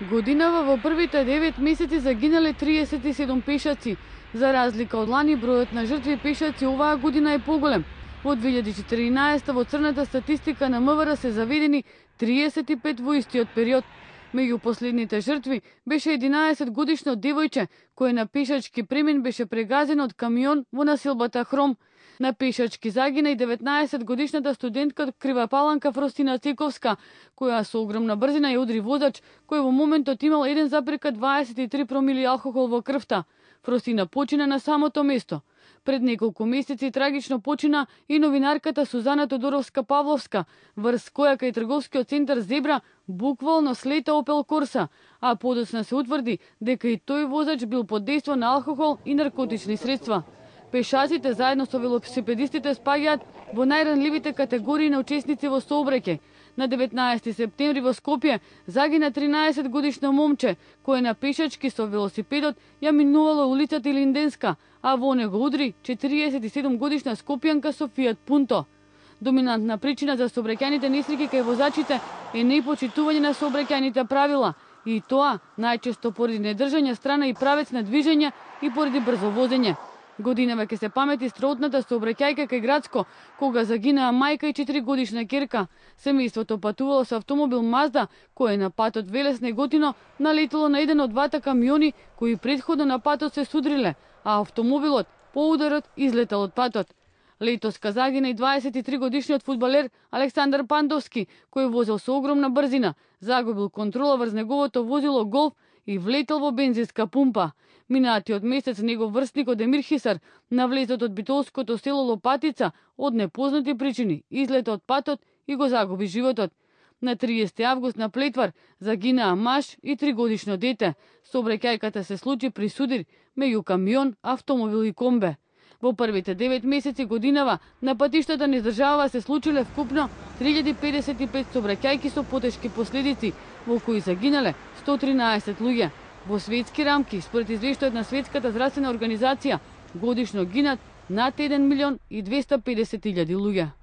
Годинава во првите 9 месеци загинале 37 пешаци. За разлика од лани, бројот на жртви пешаци оваа година е поголем. Во 2014 во црната статистика на МВР се заведени 35 во истиот период. Меѓу последните жртви беше 11 годишно девојче кое на пешачки премен беше прегазено од камион во населбата Хром. На пешачки загина и 19 годишната студентка од Крива Паланка Фростина Цековска, која со огромна брзина ја удри возач кој во моментот имал 1,23 промили алкохол во крвта. Фростина почина на самото место. Пред неколку месеци трагично почина и новинарката Сузана Тодоровска-Павловска, врз која кај трговскиот центар Зебра буквално слета Опел Корса, а подоцна се утврди дека и тој возач бил под дејство на алкохол и наркотични средства. Пешаците заедно со велосипедистите спаѓаат во најранливите категории на учесници во сообраќај. На 19 септември во Скопје загина 13 годишно момче, кое на пешачки со велосипедот ја минувало улицата Илинденска, а во него удри 47 годишна скопјанка со Фијат Пунто. Доминантна причина за сообраќајните несреќи кај возачите е непочитување на сообраќајните правила, и тоа најчесто поради недржање страна и правец на движење и поради брзо возење. Годинава ќе се памети стротната сообраќајка кај Градско, кога загинаа мајка и 4 годишна ќерка. Семејството патувало со автомобил Мазда, кој на патот Велес-Неготино налетело на еден од двата камиони кои претходно на патот се судриле, а автомобилот по ударот излетал од патот. Летоска загина и 23 годишниот фудбалер Александар Пандовски, кој возел со огромна брзина, загубил контрола врз неговото возило Голф и влетел во бензинска пумпа. Минатиот месец негов врсникот Емир Хисар на влезот од битолското село Лопатица од непознати причини излета од патот и го загуби животот. На 30 август на Плетвар загинаа маж и 3-годишно дете. Сообраќајката се случи при судир меѓу камион, автомобил и комбе. Во првите 9 месеци годинава на патиштата низ држава се случиле вкупно 3055 сообраќајки со потешки последици, во кои загинале 113 луѓе. Во светски рамки, според извештајот на Светската здравствена организација, годишно гинат над 1.250.000 луѓе.